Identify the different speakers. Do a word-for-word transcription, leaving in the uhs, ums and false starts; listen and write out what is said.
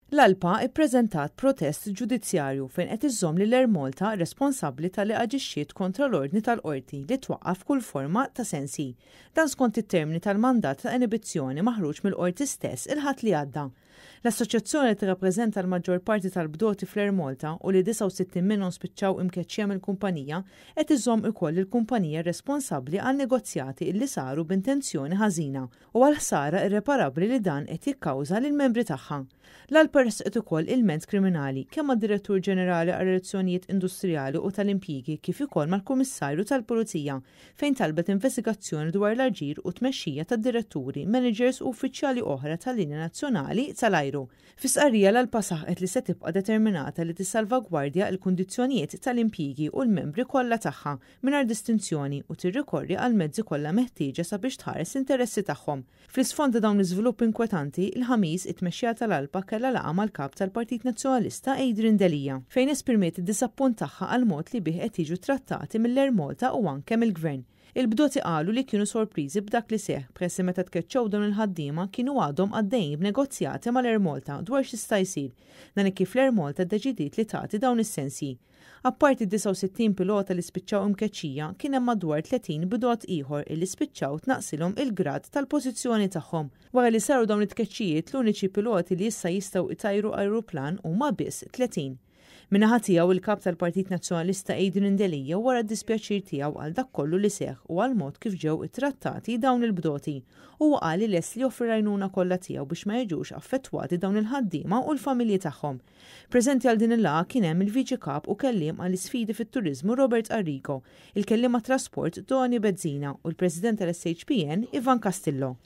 Speaker 1: L-ALPA ippreżentat protest ġudizzjarju fejn qed iżżomm lil Air Malta responsabbli talli aġixxiet kontra l-ordni tal-qorti li twaqqaf kull forma ta' sensi. Dan skont it-termini tal-mandat ta' inibizzjoni maħruġ mill-qorti stess il-Ħadd li għadda. L-assoċjazzjoni li tirrappreżenta l-maġġor parti tal-bdoti fl-Air Malta u li disgħa u sittin minnhom spiċċaw imkeċċija mill-kumpanija qed iżomm ukoll il-kumpanija responsabbli għal negozjati illi saru b'intenzjoni ħażina u għal ħsara irreparabbli li dan qed jikkawża lill-membri tagħha. L-ALPA ressqet ukoll ilment kriminali kemm mad-Direttur Ġenerali għal Relazzjonijiet Industrijali u tal-Impjiegi kif ukoll mal-Kummissarju tal-Pulizija, fejn talbet investigazzjoni dwar l-aġir u tmexxija tad-diretturi, managers u uffiċjali oħra tal-linja nazzjonali tal-ajru. Fi stqarrija, l-ALPA saħqet li se tibqa' determinata li tissalvagwardja l-kundizzjonijiet tal-impjiegi u l-membri kollha tagħha mingħajr distinzjoni u tirrikorri għal mezzi kollha meħtieġa sabiex tħares l-interessi tagħhom. Fl-isfond ta' dawn l-iżvilupp inkwetanti, il-Ħamis it-tmexxija tal-ALPA kellha laqgħa mal-kap tal-Partit Nazzjonalista Adrian Delia, fejn esprimiet id-disappunt tagħha għal mod li bih qed jiġu trattati mill-Air Malta u anke mill-Gvern. Il-bdoti qalu li kienu sorpriżi b'dak li seħ, peress meta tkeċċew dawn il-ħaddiema kienu għadhom għaddejjin b'negozjati mal-Air Malta dwar x'jista' jsir. Dan kif l-Air Malta ddeċidiet li tagħti dawn is-sensji. Apparti disgħa u sittin pilota li spiċċaw imkeċċija, kien hemm madwar tletin bdot ieħor illi spiċċaw tnaqsilhom il-grad tal-pożizzjoni tagħhom. Wara li saru dawn it-tkeċċijiet, l-uniċi piloti li issa jistgħu itajru ajruplan huma biss tletin. Min-naħa tiegħu, il-kap tal-Partit Nazzjonalista Adrian Delia wera d-dispjaċir tiegħu għal dak kollu li seħ u għal mod kif ġew ittrattati dawn il-bdoti. Huwa qal li lest li joffri l-għajnuna kollha tiegħu biex ma jiġux affettwati dawn il-ħaddiema u l-familji tagħhom. Preżenti għal din il-laqgħa kien hemm il-Viċi Kap u kelliem għall isfidi fit-turiżmu Robert Arrigo, il-kelliem għat-trasport Tony Bezzina u l-President tal-S H P N Ivan Castillo.